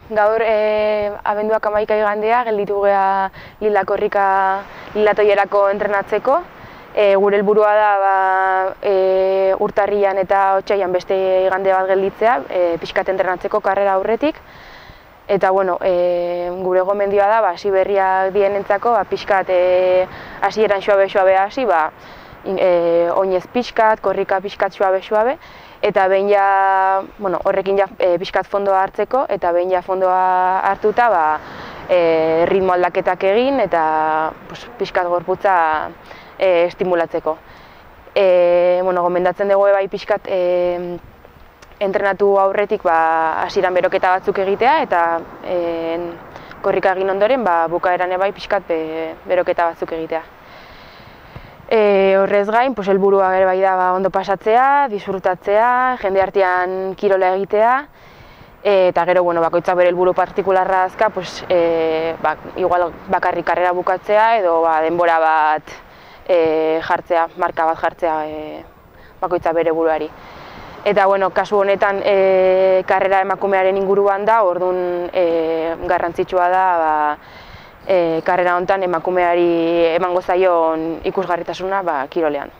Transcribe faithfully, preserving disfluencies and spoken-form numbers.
Gaur e, abenduak hamaika igandea, gelditu gea Lila Korrika Lilatoierako entrenatzeko. E, gure helburua da ba, e, urtarrian eta otsailean beste igande bat gelditzea, e, pixkat entrenatzeko karrera aurretik. Eta bueno, e, gure gomendioa da, ba, hasi berriak dienentzako, ba, pixkat e, hasieran suabe-suabe hasi, ba, e, oinez pixkat, korrika pixkat suabe-suabe, eta behin ja, bueno, horrekin ja e, pixkat fondoa hartzeko, eta behin ja fondoa hartuta, ba, e, ritmo aldaketak egin, eta pues, pixkat gorputza e, estimulatzeko. E, bueno, gomendatzen dugu bai pixkat e, entrenatu aurretik ba, hasieran beroketa batzuk egitea, eta e, korrika egin ondoren ba, bukaeran bai pixkat be, beroketa batzuk egitea. E, horrez gain, pues, helburua ere bai da ba, ondo pasatzea, disfrutatzea, jende artean kirola egitea, e, eta gero bueno, bakoitzak bere helburu partikularra azka, pues, e, ba, igual bakarrik karrera bukatzea edo ba, denbora bat e, jartzea, marka bat jartzea e, bakoitzak bere buruari. Eta bueno, kasu honetan e, karrera emakumearen inguruan da, orduan e, garrantzitsua da ba, e, karrera honetan emakumeari emango zaion ikusgarritasuna ba, kirolean.